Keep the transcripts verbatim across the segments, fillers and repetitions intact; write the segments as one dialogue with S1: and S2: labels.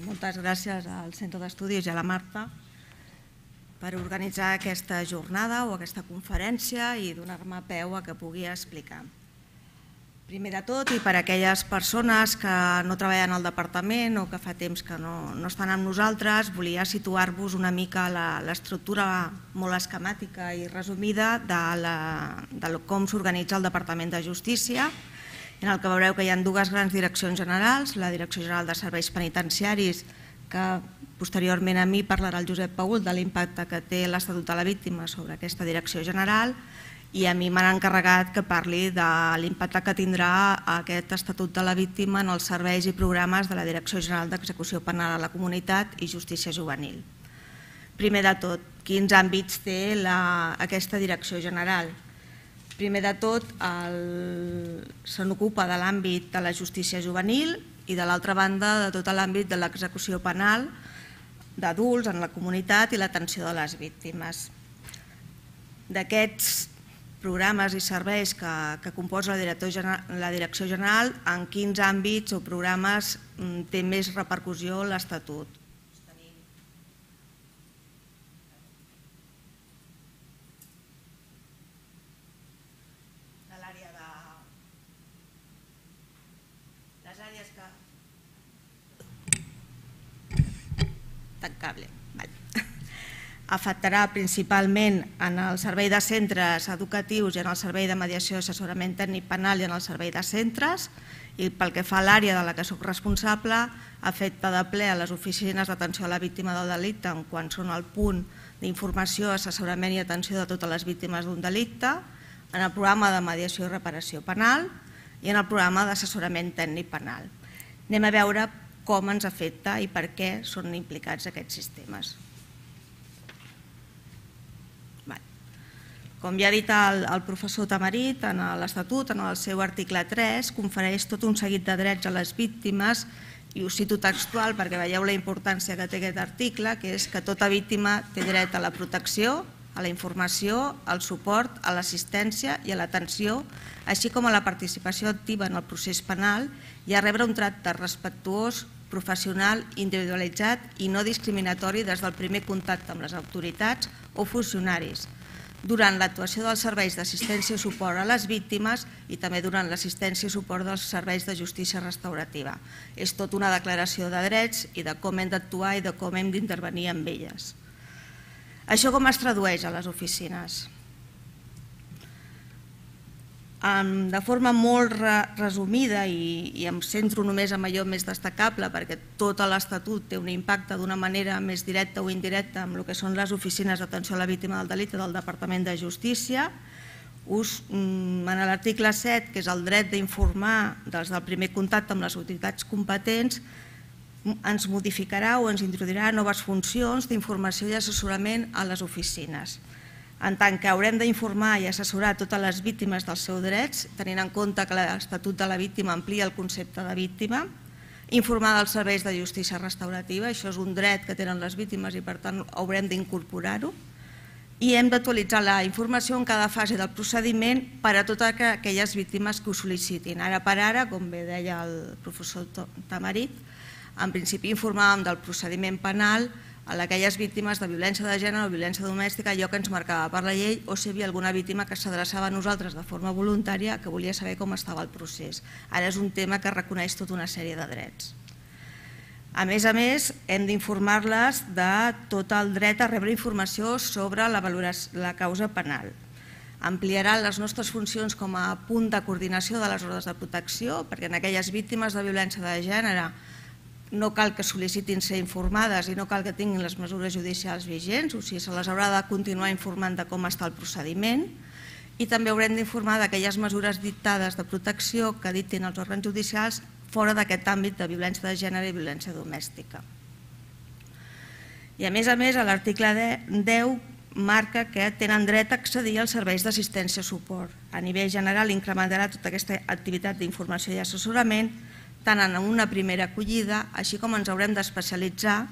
S1: moltes gràcies al Centre d'Estudis i a la Marta per organitzar aquesta jornada o aquesta conferència i donar-me peu a que pugui explicar. Primer de tot, i per a aquelles persones que no treballen al departament o que fa temps que no, no estan amb nosaltres, volia situar-vos una mica l'estructura molt esquemàtica i resumida de, la, de com s'organitza el Departament de Justícia, en el que veureu que hi ha dues grans direccions generals, la Direcció General de Serveis Penitenciaris, que posteriorment a mi parlarà el Josep Paül de l'impacte que té l'Estatut de la Víctima sobre aquesta direcció general, i a mi m'han encarregat que parli de l'impacte que tindrà aquest Estatut de la Víctima en els serveis i programes de la Direcció General d'Execució Penal a la Comunitat i Justícia Juvenil. Primer de tot, quins àmbits té la, aquesta direcció general? Primer de tot, se n'ocupa de l'àmbit de la justícia juvenil i de l'altra banda de tot l'àmbit de l'execució penal d'adults en la comunitat i l'atenció de les víctimes. D'aquests programes i serveis que, que composa la, la Direcció General, en quins àmbits o programes té més repercussió l'Estatut? De l'àrea de... les àrees que... tancable. Afectarà principalment en el servei de centres educatius i en el servei de mediació i assessorament tècnic penal i en el servei de centres, i pel que fa a l'àrea de la que soc responsable, afecta de ple a les oficines d'atenció a la víctima del delicte en quan són el punt d'informació, assessorament i atenció de totes les víctimes d'un delicte, en el programa de mediació i reparació penal i en el programa d'assessorament tècnic penal. Anem a veure com ens afecta i per què són implicats aquests sistemes. Com ja ha dit el, el professor Tamarit, en l'Estatut, en el seu article tres, confereix tot un seguit de drets a les víctimes, i us cito textual perquè veieu la importància que té aquest article, que és que tota víctima té dret a la protecció, a la informació, al suport, a l'assistència i a l'atenció, així com a la participació activa en el procés penal i a rebre un tracte respectuós, professional, individualitzat i no discriminatori des del primer contacte amb les autoritats o funcionaris, durant l'actuació dels serveis d'assistència i suport a les víctimes i també durant l'assistència i suport dels serveis de justícia restaurativa. És tot una declaració de drets i de com hem d'actuar i de com hem d'intervenir amb elles. Això com es tradueix a les oficines? De forma molt resumida, i em centro només en allò més destacable perquè tot l'Estatut té un impacte d'una manera més directa o indirecta amb el que són les oficines d'atenció a la víctima del delicte del Departament de Justícia, en l'article set, que és el dret d'informar des del primer contacte amb les autoritats competents, ens modificarà o ens introduirà noves funcions d'informació i assessorament a les oficines. En tant que haurem d'informar i assessorar totes les víctimes dels seus drets, tenint en compte que l'Estatut de la Víctima amplia el concepte de víctima, informar dels serveis de justícia restaurativa, això és un dret que tenen les víctimes i per tant haurem d'incorporar-ho, i hem d'actualitzar la informació en cada fase del procediment per a totes aquelles víctimes que ho sol·licitin. Ara per ara, com bé deia el professor Tamarit, en principi informàvem del procediment penal a aquelles víctimes de violència de gènere o violència domèstica, allò que ens marcava per la llei, o si hi havia alguna víctima que s'adreçava a nosaltres de forma voluntària que volia saber com estava el procés. Ara és un tema que reconeix tota una sèrie de drets. A més a més, hem d'informar-les de tot el dret a rebre informació sobre la causa penal. Ampliarà les nostres funcions com a punt de coordinació de les ordres de protecció, perquè en aquelles víctimes de violència de gènere no cal que sol·licitin ser informades i no cal que tinguin les mesures judicials vigents, o sigui, se les haurà de continuar informant de com està el procediment, i també haurem d'informar d'aquelles mesures dictades de protecció que dictin els òrgans judicials fora d'aquest àmbit de violència de gènere i violència domèstica. I a més a més, l'article deu marca que tenen dret a accedir als serveis d'assistència i suport. A nivell general incrementarà tota aquesta activitat d'informació i assessorament tant en una primera acollida, així com ens haurem d'especialitzar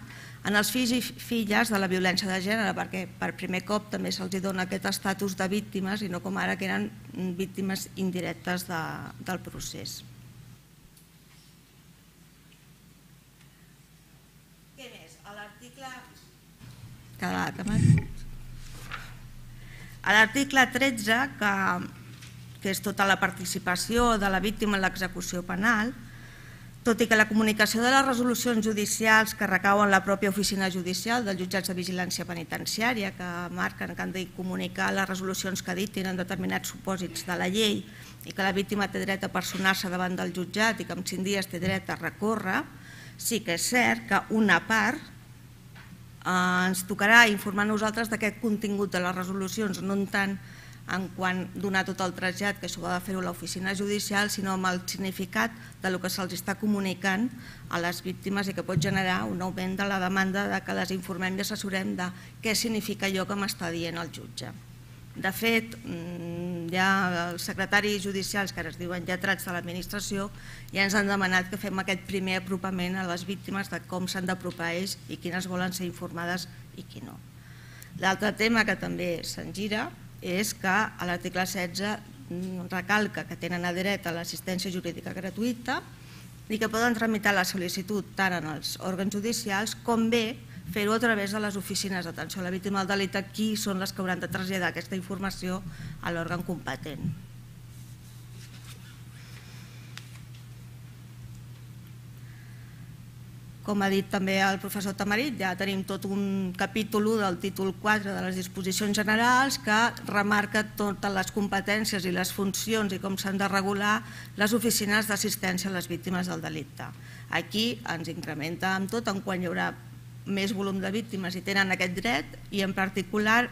S1: en els fills i filles de la violència de gènere, perquè per primer cop també se'ls dona aquest estatus de víctimes i no com ara que eren víctimes indirectes del procés. A l'article tretze, que és tota la participació de la víctima en l'execució penal, tot i que la comunicació de les resolucions judicials que recauen la pròpia oficina judicial dels jutjats de vigilància penitenciària, que marquen que han de comunicar les resolucions que dictin en determinats supòsits de la llei i que la víctima té dret a personar-se davant del jutjat i que en cinc dies té dret a recórrer, sí que és cert que una part ens tocarà informar nosaltres d'aquest contingut de les resolucions, no tant en quant donar tot el trasllat, que això ha de fer-ho l'oficina judicial, sinó amb el significat del que se'ls està comunicant a les víctimes i que pot generar un augment de la demanda de que les informem i assessorem de què significa allò que m'està dient el jutge. De fet, hi ha els secretaris judicials, que ara es diuen lletrats de l'administració, ja ens han demanat que fem aquest primer apropament a les víctimes de com s'han d'apropar ells i quines volen ser informades i qui no. L'altre tema que també se'n gira és que a l'article setze recalca que tenen dret a l'assistència jurídica gratuïta i que poden tramitar la sol·licitud tant en els òrgans judicials com bé fer-ho a través de les oficines d'atenció a la víctima del delicte, qui són les que hauran de traslladar aquesta informació a l'òrgan competent. Com ha dit també el professor Tamarit, ja tenim tot un capítol del títol quatre de les disposicions generals que remarca totes les competències i les funcions i com s'han de regular les oficines d'assistència a les víctimes del delicte. Aquí ens incrementa amb tot en quan hi haurà més volum de víctimes i tenen aquest dret i en particular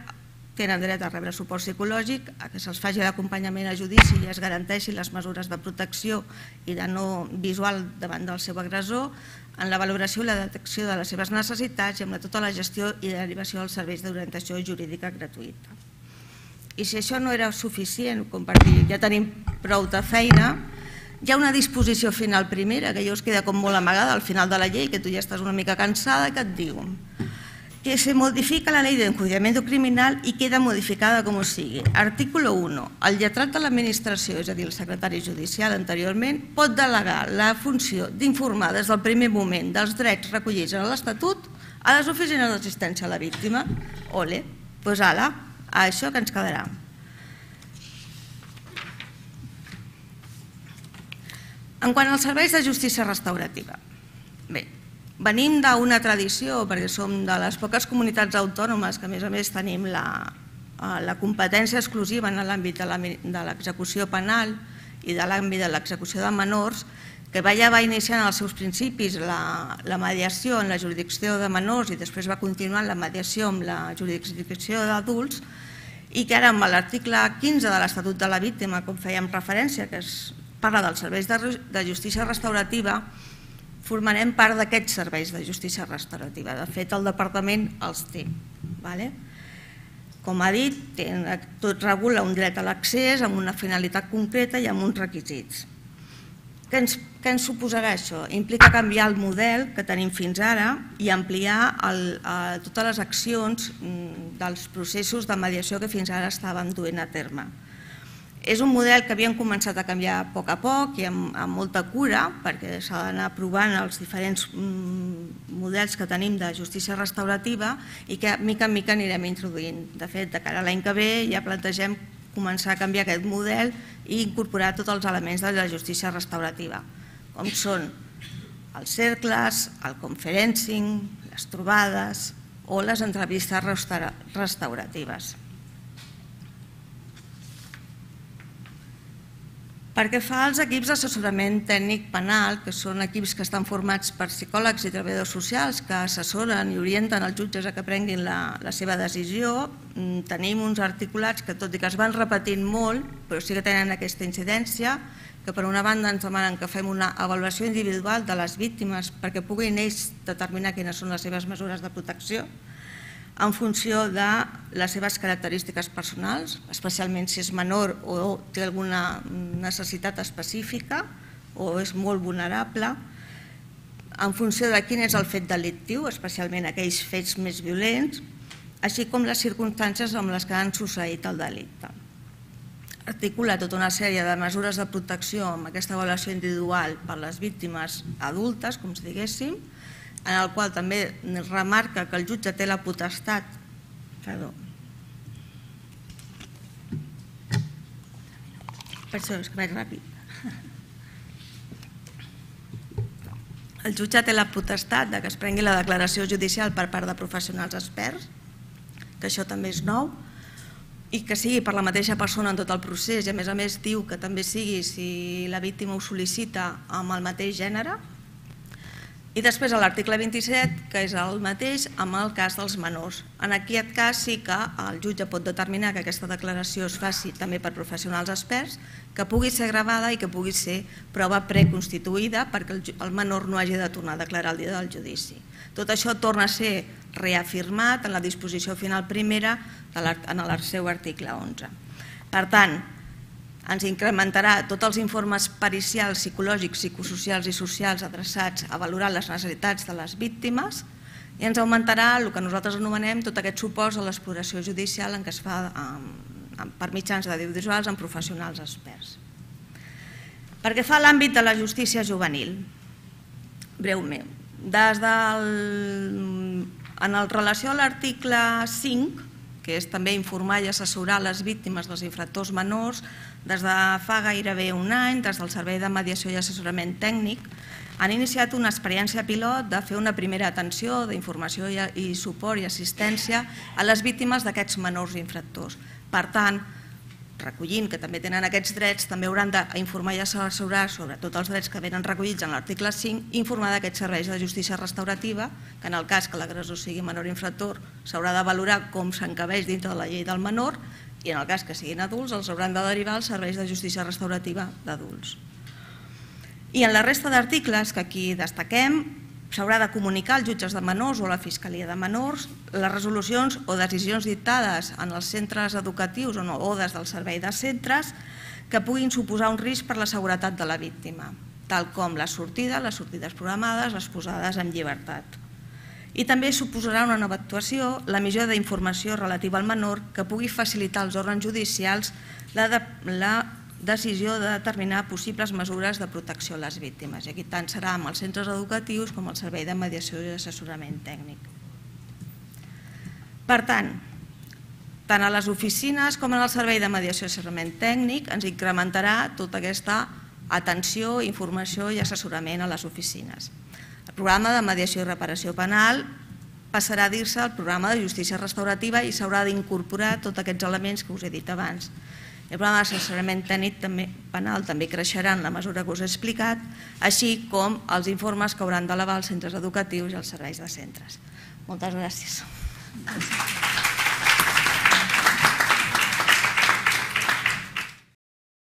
S1: tenen dret a rebre suport psicològic, a que se'ls faci l'acompanyament a judici i es garanteixin les mesures de protecció i de no visual davant del seu agressor, en la valoració i la detecció de les seves necessitats i amb tota la gestió i derivació dels serveis d'orientació jurídica gratuïta. I si això no era suficient, com per dir ja tenim prou de feina, hi ha una disposició final primera que ja us queda com molt amagada al final de la llei, que tu ja estàs una mica cansada, que et diu que se modifica la ley de enjuiciamiento criminal i queda modificada com sigui. Artículo uno. El lletrat de l'administració, és a dir, el secretari judicial anteriorment, pot delegar la funció d'informar des del primer moment dels drets recollits en l'Estatut a les oficines d'assistència a la víctima. Ole, doncs ala, a això que ens quedarà. En quant als serveis de justícia restaurativa, bé, venim d'una tradició, perquè som de les poques comunitats autònomes que a més a més tenim la competència exclusiva en l'àmbit de l'execució penal i de l'àmbit de l'execució de menors, que ja va iniciar en els seus principis la mediació en la jurisdicció de menors i després va continuar la mediació amb la jurisdicció d'adults i que ara amb l'article quinze de l'Estatut de la Víctima, com fèiem referència, que parla dels serveis de justícia restaurativa, formarem part d'aquests serveis de justícia restaurativa. De fet, el departament els té. Com ha dit, tot regula un dret a l'accés amb una finalitat concreta i amb uns requisits. Què ens suposarà això? Implica canviar el model que tenim fins ara i ampliar totes les accions dels processos de mediació que fins ara estàvem duent a terme. És un model que havíem començat a canviar a poc a poc i amb molta cura, perquè s'ha d'anar provant els diferents models que tenim de justícia restaurativa i que mica en mica anirem introduint. De fet, de cara a l'any que ve ja plantegem començar a canviar aquest model i incorporar tots els elements de la justícia restaurativa, com són els cercles, el conferencing, les trobades o les entrevistes restauratives. Pel que fa als equips d'assessorament tècnic penal, que són equips que estan formats per psicòlegs i treballadors socials que assessoren i orienten els jutges a que prenguin la seva decisió, tenim uns articulats que, tot i que es van repetint molt, però sí que tenen aquesta incidència, que per una banda ens demanen que fem una avaluació individual de les víctimes perquè puguin ells determinar quines són les seves mesures de protecció, en funció de les seves característiques personals, especialment si és menor o té alguna necessitat específica o és molt vulnerable, en funció de quin és el fet delictiu, especialment aquells fets més violents, així com les circumstàncies amb les que han succeït el delicte. Articula tota una sèrie de mesures de protecció amb aquesta avaluació individual per les víctimes adultes, com si diguéssim, en el qual també remarca que el jutge té la potestat perdó per això és que vaig ràpid el jutge té la potestat que es prengui la declaració judicial per part de professionals experts, que això també és nou, i que sigui per la mateixa persona en tot el procés, i a més a més diu que també sigui si la víctima ho sol·licita amb el mateix gènere. I després a l'article vint-i-set, que és el mateix amb el cas dels menors. En aquest cas sí que el jutge pot determinar que aquesta declaració es faci també per professionals experts, que pugui ser gravada i que pugui ser prova preconstituïda perquè el menor no hagi de tornar a declarar el dia del judici. Tot això torna a ser reafirmat en la disposició final primera en el seu article onze. Per tant, ens incrementarà tots els informes pericials, psicològics, psicosocials i socials adreçats a valorar les necessitats de les víctimes i ens augmentarà el que nosaltres anomenem tot aquest suport a l'exploració judicial en què es fa per mitjans d'audiovisuals amb professionals experts. Pel que fa a l'àmbit de la justícia juvenil, breument, en relació a l'article cinc, que és també informar i assessorar les víctimes dels infractors menors, des de fa gairebé un any, des del Servei de Mediació i Assessorament Tècnic, han iniciat una experiència pilot de fer una primera atenció d'informació i suport i assistència a les víctimes d'aquests menors infractors. Per tant, recollint que també tenen aquests drets, també hauran d'informar i assessorar sobre tots els drets que venen recollits en l'article cinc, informar d'aquests serveis de justícia restaurativa, que en el cas que l'agressor sigui menor infractor s'haurà de valorar com s'encabeix dintre de la llei del menor i en el cas que siguin adults els hauran de derivar als serveis de justícia restaurativa d'adults. I en la resta d'articles que aquí destaquem, s'haurà de comunicar als jutges de menors o a la Fiscalia de Menors les resolucions o decisions dictades en els centres educatius o des del servei de centres que puguin suposar un risc per la seguretat de la víctima, tal com les sortides, les sortides programades, les posades en llibertat. I també suposarà una nova actuació l'emissió d'informació relativa al menor que pugui facilitar als òrgans judicials la decisió de determinar possibles mesures de protecció a les víctimes. I aquí tant serà amb els centres educatius com el Servei de Mediació i Assessorament Tècnic. Per tant, tant a les oficines com en el Servei de Mediació i Assessorament Tècnic ens incrementarà tota aquesta atenció, informació i assessorament a les oficines. El programa de mediació i reparació penal passarà a dir-se el programa de justícia restaurativa i s'haurà d'incorporar tots aquests elements que us he dit abans. El programa d'assessorament tècnic penal també creixerà en la mesura que us he explicat, així com els informes que hauran d'elevar els centres educatius i els serveis de centres. Moltes gràcies.